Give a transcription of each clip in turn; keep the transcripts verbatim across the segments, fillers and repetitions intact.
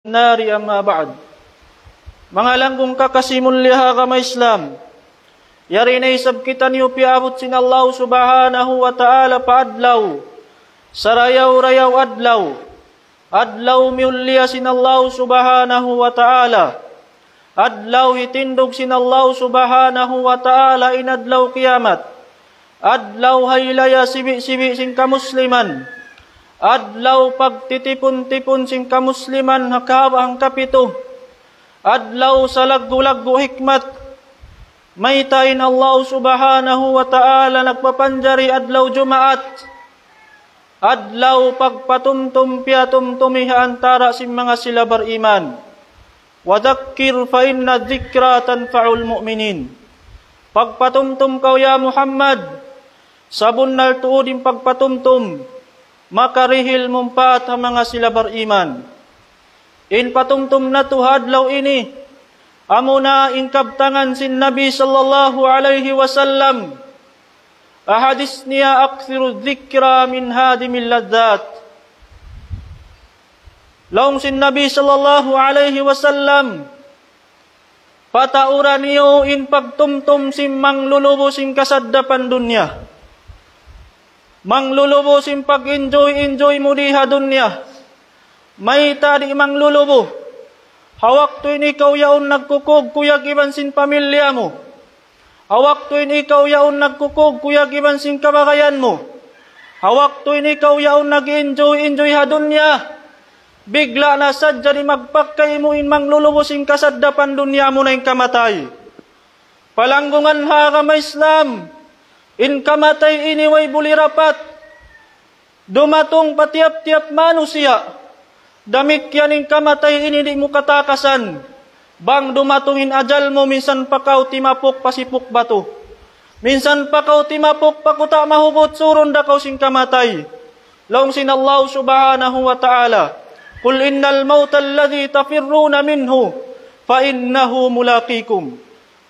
النار، أما بعد. Manga langgung kakasi mulliya ha agama Islam. Yari na isab kitaniyu piyaabut sin Allah Subhanahu wa Ta'ala pa adlaw. Sarayaw-rayaw adlaw. Adlaw miyulliya sin Allah Subhanahu wa Ta'ala. Adlaw hitindug sin Allah Subhanahu wa Ta'ala in adlaw kiyamat. Adlaw haylaya sibi'-sibi' sin kamusliman. Adlaw pagtitipun-tipun sin kamusliman ha kahaba' hangkapitu. Adlaw salaggu'-laggu' hikmat. Mayta' in Allah Subhanahu wa Ta'ala nagpapanjari adlaw Jumaat. Adlaw pagpatumtum piyatumtumi ha antara' sin manga sila bariman. وذكر فإن الذكرى تنفع المؤمنين. Pagpatumtum kaw ya Muhammad, sabunnal tuud in pagpatumtum, makarihil mumpaat ha manga sila bariman. In patumtum natu' ha adlaw ini, amuna in kabtangan sin Nabi sallallahu alayhi wasallam. Ha hadis niya, أكثروا الذكر من هادم اللذات. Laung sin Nabi sallallahu alayhi wasallam, pataura niyu in pagtumtum sin manglulubu sin kasaddapan dunya. Manglulubu sin pag-enjoy-enjoy mu di ha dunya. Mayta' di' manglulubu? Ha waktu in ikaw yaun nagkukug-kuyag iban sin pamilya mu. Ha waktu in ikaw yaun nagkukug-kuyag iban sin kabagayan mu. Ha waktu in ikaw yaun nag-enjoy-enjoy ha dunya. Bigla' na sadja di' magpakay mu in manglulubu sin kasaddapan dunya, amuna in kamatay. Palanggungan ha agama Islam, in kamatay ini way buli rapat. Dumatung pa tiyap-tiyap manusiya'. Damikkiyan in kamatay ini di' mu katakasan. Bang dumatung in ajal mu, minsan pa kaw timapuk pa sipuk batu. Minsan pa kaw timapuk pa kuta' mahugut, surun da kaw sin kamatay. Laung sin Allah Subhanahu wa Ta'ala, قل إن الموت الذي تفرون منه فإنه ملاقيكم.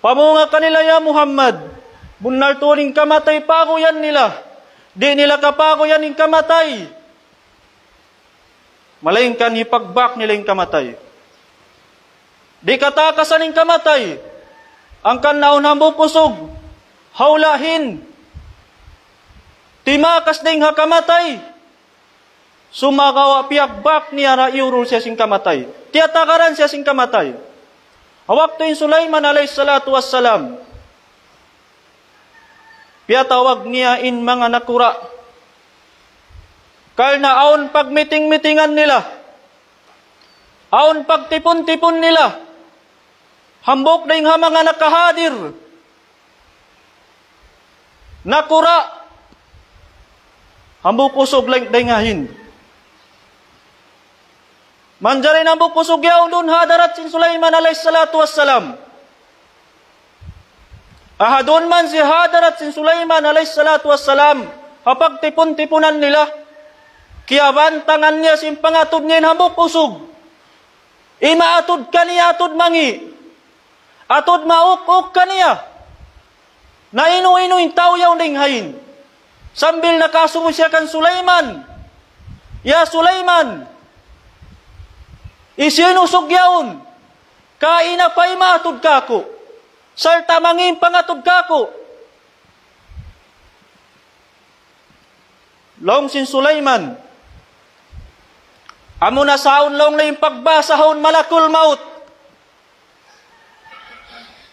Pamunga kanila, ya Muhammad, bunnal tuud in kamatay paguyan nila. Di' nila kapaguyan in kamatay. Malaingkan hipagbak nila in kamatay. Di' katakasan in kamatay. Hangkan awn hambuuk usug, ha hula' hin, timakas dayn ha kamatay. Sumagawa' piyagbak niya ra, iyurul siya sin kamatay. Tiyatagaran siya sin kamatay. Ha waktu in Sulaiman alayhis salatu wassalam, piyatawag niya in manga nakura'. Karna' awn pagmiting-mitingan nila. Awn pagtipun-tipun nila. Hambuuk dayn ha manga nakahadir, nakura'. Hambuuk usug dayn, dayn ha Hind. Manjari in hambuuk usug yaun duun ha hadarat sin Sulaiman alayhis salatu wassalam. Aha duun man siya ha hadarat sin Sulaiman alayhis salatu wassalam, ha pagtipun-tipunan nila, kiyabantangan niya sin pangatud niya in hambuuk usug. Imaatud kaniya atud mangi'. Atud mauk-uk kaniya. Na inu-inu in tau yaun dayn ha Hind. Sambil nakasubu siya kan Sulaiman. Ya Sulaiman, hisiyu in usug yaun? Kaina pa imaatud kāku'. Sarta' mangi' in pangatud kāku'. Laung sin Sulaiman, amuna sa awn laung na in pagbahasahun malakul maut.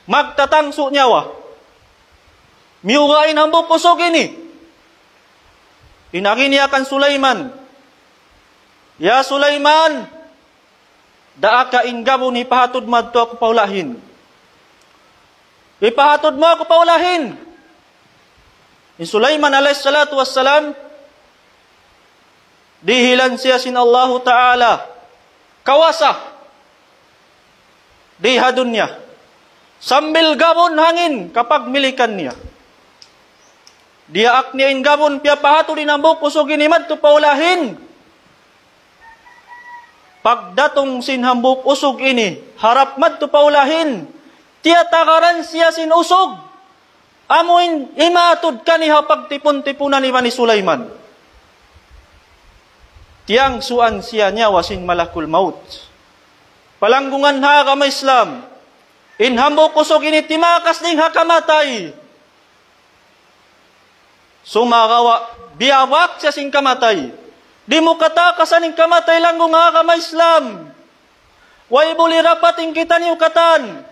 Magtatangsu nyawa. Miyuga' in hambuuk usug ini. In agi niya kan Sulaiman, "Ya Sulaiman, daaka in gabun hipahatud madtu aku pa hula' Hind. Hipahatud mu aku pa hula' Hind." In Sulaiman alayhis salatu wassalam, dihilan siya sin Allahu Ta'ala kawasa di ha dunya. Sambil gabun hangin kapagmilikan niya. Diyaak niya in gabun, piyapahatud in hambuuk usug ini madtu pa hula' Hind. Pagdatung sin hambuuk usug ini harap madtu pa hula' Hind, tiyatagaran siya sin usug. Amu in imaatud kaniya ha pagtipun-tipunan iban hi Sulaiman. Tiyangsuan siya nyawa sin malakul maut. Palanggungan ha agama Islam, in hambuuk usug ini timakas dayn ha kamatay. Sumagawa', biyabak siya sin kamatay. Di' mu katakasan in kamatay, langgung ha agama Islam. Way buli rapat in kitaniyu katan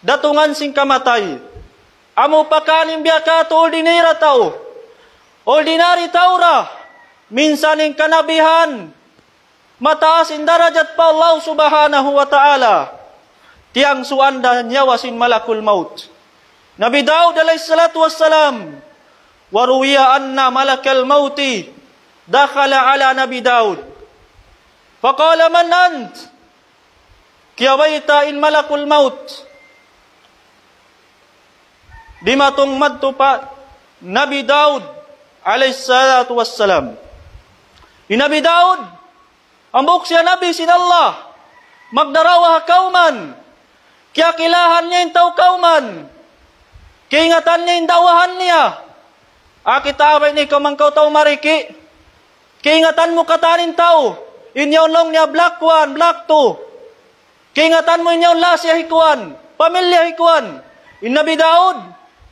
datungan sin kamatay. Amu pa kan in biya' katu' ordinary tau. Ordinary tau ra. Minsan in kanabihan, mataas in darajat pa Allah Subhanahu wa Ta'ala. Tiyangsuan da nyawa sin malakul maut. Nabi Daud alayhi salatu wassalam, وروي أن ملك الموت دخل على نبي داود فقال: من أنت؟ Kiyabayta' in malakul maut dimatung madtu pa Nabi Daud alayhi salatu wassalam. Hi Nabi Daud, hambuuk siya nabi sin Allah, magdarawa ha kawman, kiyakilahan niya in tau kawman, kiingatan niya in da'wahan niya. Aki, tabay ni kaw man kaw tau mariki'. Kiingatan mu katan in tau, in yaun laung niya black one, black two. Kiingatan mu in yaun lasa hi kuwan, pamilya hi kuwan. In Nabi Daud,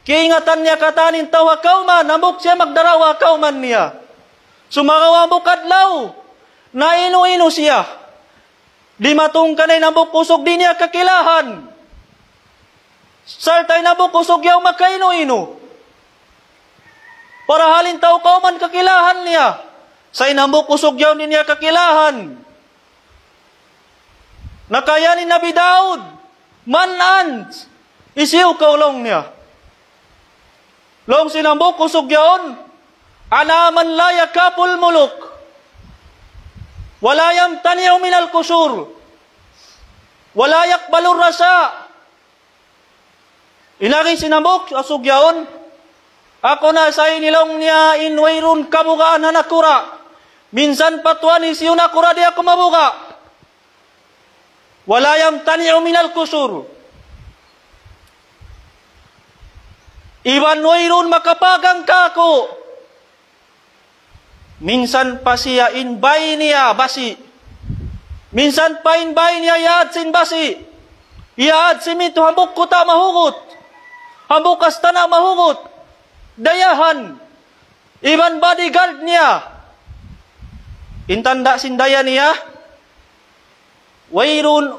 kiingatan niya katan in tau ha kawman, hambuuk siya magdarawa ha kawman niya. Sumagawa' hambuuk adlaw, nainu-inu siya. Dimatung kaniya in hambuuk usug di' niya kakilahan. Sarta' in hambuuk usug yaun makainu-inu. Parahal in tau kawman kakilahan niya. Sa' in hambuuk usug yaun di' niya kakilahan. Nakayan in Nabi Daud, من أنت؟ Hisiyu kaw, laung niya. Laung sin hambuuk usug yaun, أنا من لا يخاف الملوك ولا يمتنع من القصور ولا يقبل الرشا. In agi sin hambuuk usug yaun, aku na sa ini, laung niya, in wayruun kabugaan ha nakura'. Minsan pa tuwan hisiyu nakura' di' aku mabuga'. ولا يمتنع من القصور. Iban wayruun makapagang kāku'. Minsan pa siya in bay niya basi'. Minsan pa in bay niya yaad sin basi'. Yaad sin mitu, hambuuk kuta' mahugut. Hambuuk astana' mahugut. Dayahan. Iban bodyguard niya. In tanda' sin daya niya, wayruun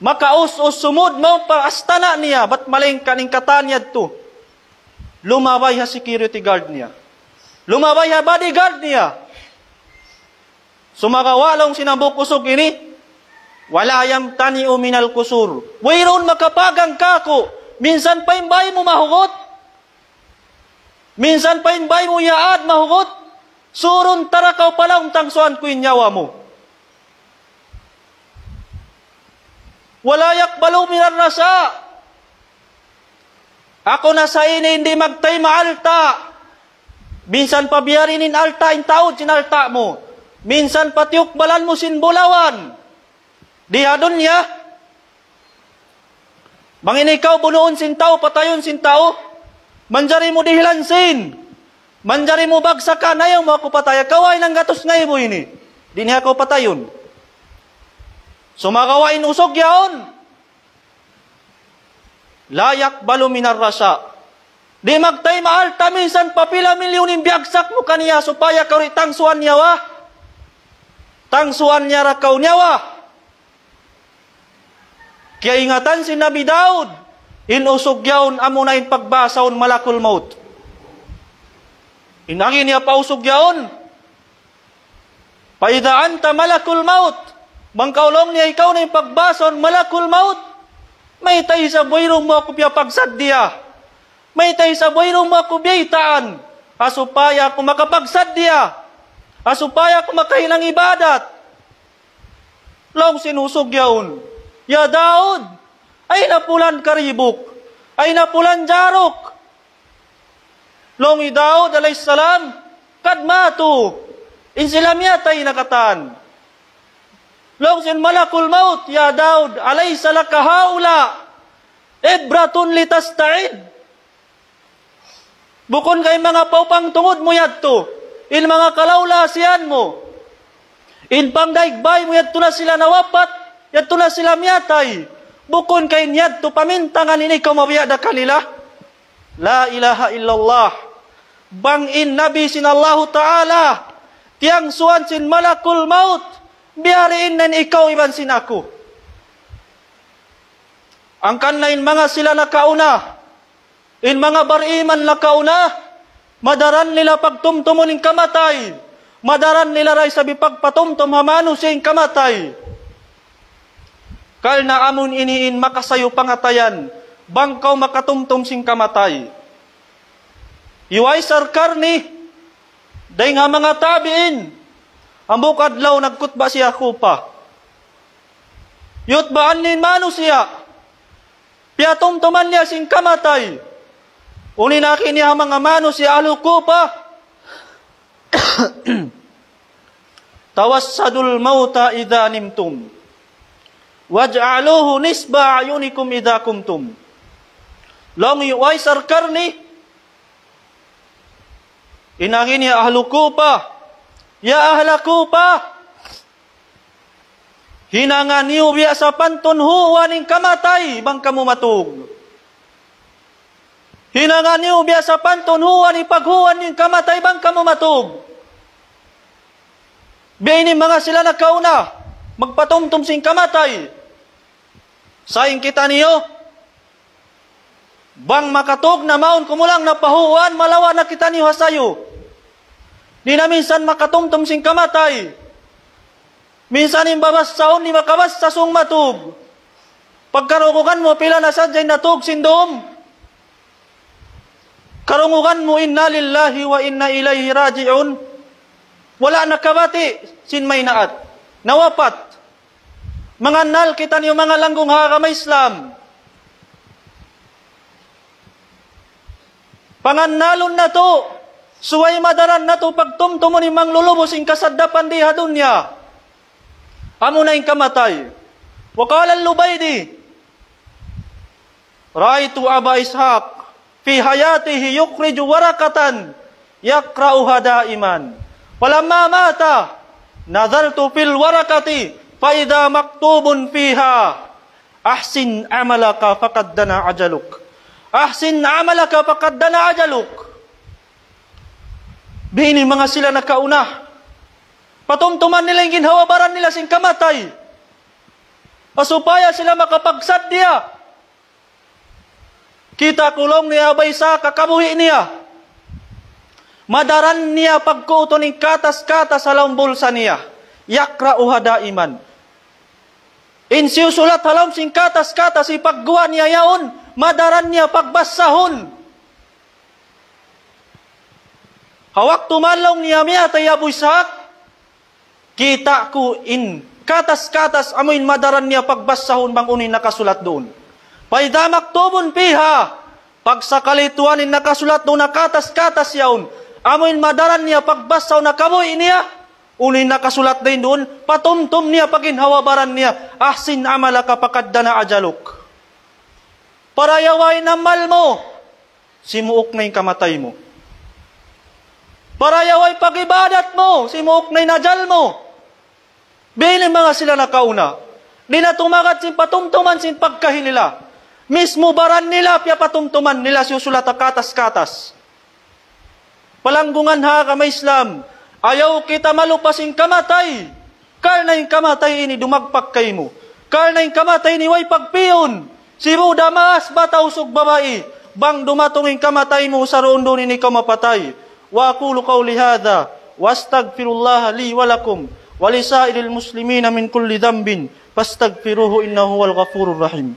makaus-us sumud mawn pa astana' niya, bat malayngkan in katan yadtu lumabay ha security guard niya. Lumabay ha bodyguard niya. Sumagawa' laung sin hambuuk usug ini, ولا يمتنع من القصور. Wayruun makapagang kāku', minsan pa in bay mu mahugut, minsan pa in bay mu yaad mahugut, surun ta ra kaw pa lawm, tangsuan ku in nyawa mu. ولا يقبل من الرشا. Aku na sa ini di' magtayma' alta'. Minsan pa biya' diin in alta', in taud sin alta' mu. Minsan pa tiyukbalan mu sin bulawan. Di ha dunya. Bang in ikaw bunuun sin tau, patayun sin tau, manjari mu dihilan sin, manjari mu bagsakan, ayaw mu aku pataya, kawain hanggatus ngaibu ini. Di' niya aku patayun. Sumagawa' in usug yaun, لا يقبل من الرشا. Di' magtayma' alta', minsan pa pila milyun in biyagsak mu kaniya supaya kaw di' tangsuan nyawa. Tangsuan niya ra kaw nyawa. Kiyaingatan sin Nabi Daud, in usug yaun amuna in pagbahasahun malakul maut. In agi niya pa usug yaun, فإذا أنت ملك الموت. Bang kaw, laung niya, ikaw na in pagbahasahun malakul maut, mayta' isab wayruun mu aku piyapagsaddiya? Mayta' isab wayruun mu aku biyaytaan? Ha supaya aku makapagsaddiya. Ha supaya aku makahinang ibadat. Laung sin usug yaun, يا داود، أين فلان قريبك؟ أين فلان جارك؟ Laung hi Daud alayhis salam, قد ماتوا. In sila miyatay na katan. Laung sin malakul maut, يا داود، أليس لك هؤلاء عبرة لتستعد؟ Bukun ka in manga paupang tungud mu yadtu, in manga kalawlasihan mu, In pangdaig bay mu yadtu na sila nawapat, yadtu na sila miyatay. Bukun ka in yadtu pamintangan in ikaw mabiya' da kanila? La ilaha illallah. Bang in Nabi sin Allahu Ta'ala, tiyangsuan sin malakul maut, biyariin na in ikaw iban sin aku. Hangkan na in manga sila nakauna, in manga bariman nakauna, madaran nila pagtumtumun in kamatay, madaran nila da isab hipagpatumtum ha manusiya' in kamatay. Karna' amu ini in makasayu pangatayan, bang kaw makatumtum sin kamatay. Hi Uwais Al-Qarni, dayn ha manga tabi'in, hambuuk adlaw nagkutba siya Kufa. Yutbaan niya in manusiya', piyatumtuman niya sin kamatay. Unu in agi niya ha manga manusiya' ahlu Kufa, توسدوا الموت إذا نمتم واجعلوه نصب أعينكم إذا قمتم. Laung hi Uwais Al-Qarni, in agi niya ahlu Kufa, ya ahla Kufa, hinanga niyu biya' sapantun huuan in kamatay bang kamu matug. Hinanga niyu biya' sapantun huuan in paghuuan in kamatay bang kamu matug. Biya' ini manga sila nakauna, magpatumtum sin kamatay. Sa' in kitaniyu, bang makatug na mawn kumulang na pa huuan, malawa' na kitaniyu ha sayu. Di' na minsan makatumtum sin kamatay. Minsan in babassahun, di' makabassa sung matug. Pagkarungugan mu, pila na sadja in natug sin dum. Karungugan mu, إنا لله وإنا إليه راجعون. Wala' nakabati' sin maynaat. Nawapat. Mangannal kitaniyu manga langgung ha agama Islam. Pangannalun natu', subay madaran natu' pagtumtumun in manglulubus sin kasaddapan di ha dunya. Amuna in kamatay. وقال اللبيدي: رأيت أبا إسحاق في حياته يخرج ورقة يقرأها دائما، فلما مات نظرت في الورقة فإذا مكتوب فيها: أحسن عملك فقد دنا أجلك. أحسن عملك فقد دنا أجلك. Biya' ini manga sila nakauna. Patumtuman nila in ginhawa-baran nila sin kamatay. Supaya sila makapagsaddiya. Kita' ku laung niya Abu Ishaq ha kabuhi' niya. Madaran niya pagkuutun in katas-katas ha lawm bulsa niya. يقرأها دائما. In siyusulat ha lawm sin katas-katas, hipagguwa' niya yaun, madaran niya pagbassahun. Ha waktu man laung niya miyatay hi Abu Ishaq, kita' ku in katas-katas amu in madaran niya pagbassahun bang unu in nakasulat duun. فإذا مكتوب فيها, pagsakali tuwan in nakasulat duun ha katas-katas yaun, amu in madaran niya pagbassahun ha kabuhi' niya, unu in nakasulat dayn duun, patumtum niya pa ginhawa-baran niya, أحسن عملك فقد دنا أجلك. Parayaway in amal mu, simuuk na in kamatay mu. Parayaway pag-ibadat mu, simuuk na in ajal mu. Biya' ini manga sila nakauna. Di' na tumagad sin patumtuman sin pagkahi nila. Mismu baran nila, piyapatumtuman nila siyusulat ha katas-katas. Palanggungan ha agama Islam, ayaw kita malupa sin kamatay. Karna' in kamatay ini dumagpak kaymu. Karna' in kamatay ini way pagpiyun. Sibu' da maas, bata' usug babai. Bang dumatung in kamatay mu, saruun-duun in ikaw mapatay. وأقول قولي هذا وأستغفر الله لي ولكم ولسائر المسلمين من كل ذنب فاستغفروه إنه هو الغفور الرحيم.